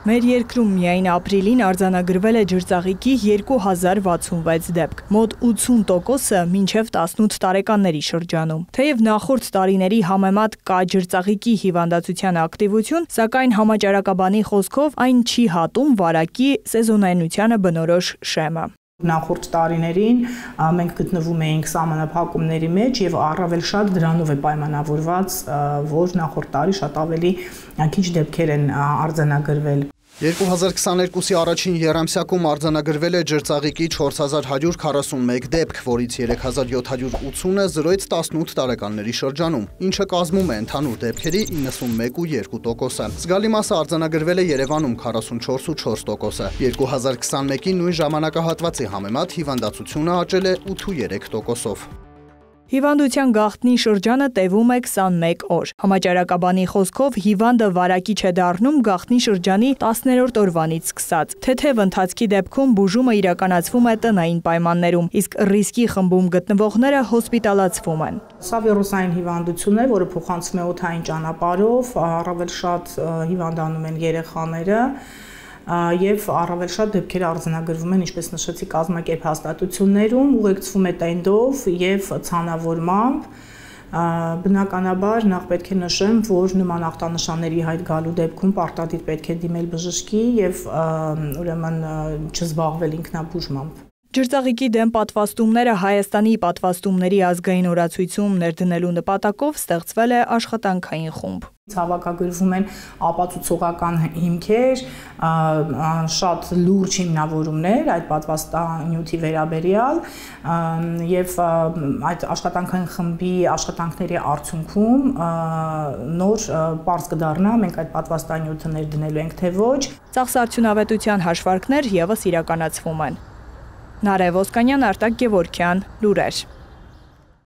Մեր երկրում միայն ապրիլին արձանագրվել է ջրծաղիկի 2066 դեպք, մոտ 80%-ը մինչև 18 տարեկանների շրջանում։ Թեև նախորդ տարիների համեմատ կա ջրծաղիկի հիվանդացության ակտիվություն, սակայն համաճարակաբանի խոսքով այն չի հատում վարակի սեզոնայնությանը բնորոշ շեմը։ Նախորդ տարիներին մենք գտնվում էինք սահմանափակումների մեջ եւ առավել շատ դրանով է պայմանավորված, որ նախորդ տարի շատ ավելի քիչ դեպքեր են արձանագրվել։ 2022-ի առաջին եռամսյակում արձանագրվել է ջրծաղիկի 4141 դեպք, որից 3780-ը 0-ից 18 տարեկանների շրջանում, ինչը կազմում է ընդհանուր դեպքերի 91.2%-ը։ Զգալի մասը արձանագրվել է Երևանում 44.4%-ը։ 2021-ի նույն ժամանակահատվածի համեմատ հիվանդացությունը աճել է 8.3%-ով։ Հիվանդության գաղտնի շրջանը տևում է 21 օր։ Համաճարակաբանի խոսքով հիվանդը վարակիչ է դառնում գաղտնի շրջանի 10-րդ օրվանից սկսած։ Թեթև ընթացքի դեպքում բուժումը իրականացվում է տնային պայմաններում, իսկ ռիսկի խմբում գտնվողները հոսպիտալացվում են։ Սա վիրուսային հիվանդություն է, որը փոխանցվում է օդային ճանապարհով, առավել շատ հիվանդանում են երեխաները։ Եվ առավել շատ դեպքեր արձանագրվում են, ինչպես նշեցի, կազմակերպ հաստատություններում, ուղեկցվում է տենդով եւ ցանավորմամբ։ Բնականաբար նախ պետք է նշեմ, որ նման ախտանշանների հայտ գալու դեպքում պարտադիր պետք է դիմել բժշկի եւ ուրեմն չզբաղվել ինքնաբուժմամբ։ Ջրծաղիկի դեմ պատվաստումները Հայաստանի պատվաստումների ազգային օրացույցում ներդնելու նպատակով ստեղծվել է աշխատանքային խումբ։ Հավաքագրվում են ապացուցողական հիմքեր, շատ լուրջ հիմնավորումներ այդ պատվաստանյութի վերաբերյալ եւ այդ աշխատանքային խմբի աշխատանքների արդյունքում նոր պարզ կդառնա, մենք այդ պատվաստանյութը ներդնելու ենք թե ոչ։ Ծախսարդյունավետության հաշվարկներ եւս իրականացվում են։ Նարեկ Ոսկանյան, Արտակ Գևորգյան, լուրեր։